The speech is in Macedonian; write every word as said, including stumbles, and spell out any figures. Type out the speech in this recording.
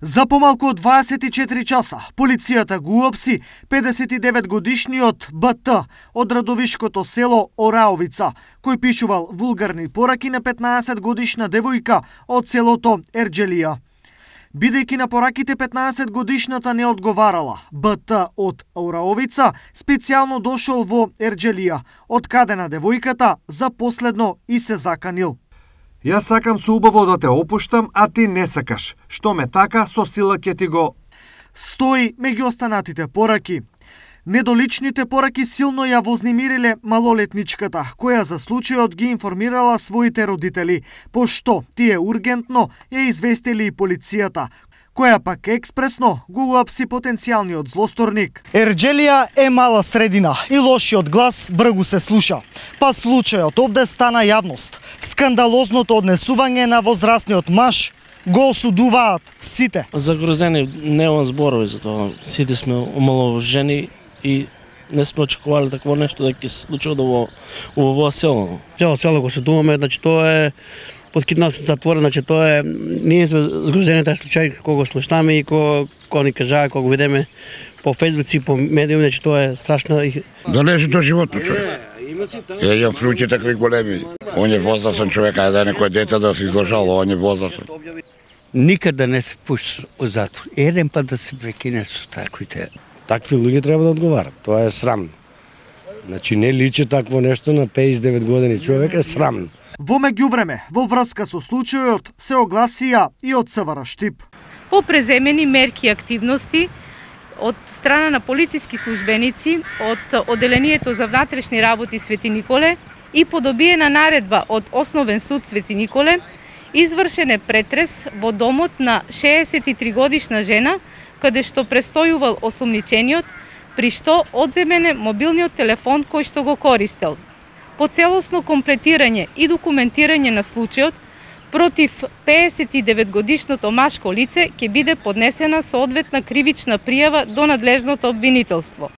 За помалку од дваесет и четири часа, полицијата го уапси педесет и девет годишниот Б Т од радовишкото село Ораовица, кој пишувал вулгарни пораки на петнаесет годишна девојка од селото Ерџелија. Бидејќи на пораките петнаесет годишната не одговарала, Б Т од Ораовица специјално дошол во Ерџелија, од каде на девојката за последно и се заканил. Јас сакам со убаво да те опуштам, а ти не сакаш. Што ме така, со сила ќе ти го... Стои меѓу останатите пораки. Недоличните пораки силно ја вознемириле малолетничката, која за случајот ги информирала своите родители, пошто тие ургентно ја известили и полицијата, која пак експресно го уапси потенцијалниот злосторник. Ерџелија е мала средина и лошиот глас бргу се слуша. Па случајот овде стана јавност. Скандалозното однесување на возрастниот маж го осудуваат сите. Загрозени немам зборови за тоа. Сите сме омаловажени и не сме очекували такво нешто да ќе се случи во овој село. Цело село го осудуваме, значи тоа е подкидна затвора, значи тоа е ние сме згрозени тај случај кога го слушнаме и кога кога ни кажа, кога го видиме по фејсбук и по медиуми, значи тоа е страшно. Да не е тоа животно човек. Е, ја случаи такви големи. Он е возрастен човек, а да некој дете да се изложало, он е возрастен. Никаде не се пушти од затвор. Еден пат да се прекине со таквите. Такви луѓе треба да одговарат. Тоа е срамно. Значи не личи такво нешто на педесет и девет години човек, е срамно. Во меѓувреме, во врска со случајот се огласија и од С В Р Штип. По преземени мерки и активности од страна на полициски службеници од Оделението за внатрешни работи Свети Николе и по добиена наредба од Основен суд Свети Николе, извршен е претрес во домот на шеесет и три годишна жена, каде што престојувал осумничениот, при што одземен е мобилниот телефон кој што го користел. По целосно комплетирање и документирање на случајот, против педесет и девет годишното машко лице ќе биде поднесена соодветна кривична пријава до надлежното обвинителство.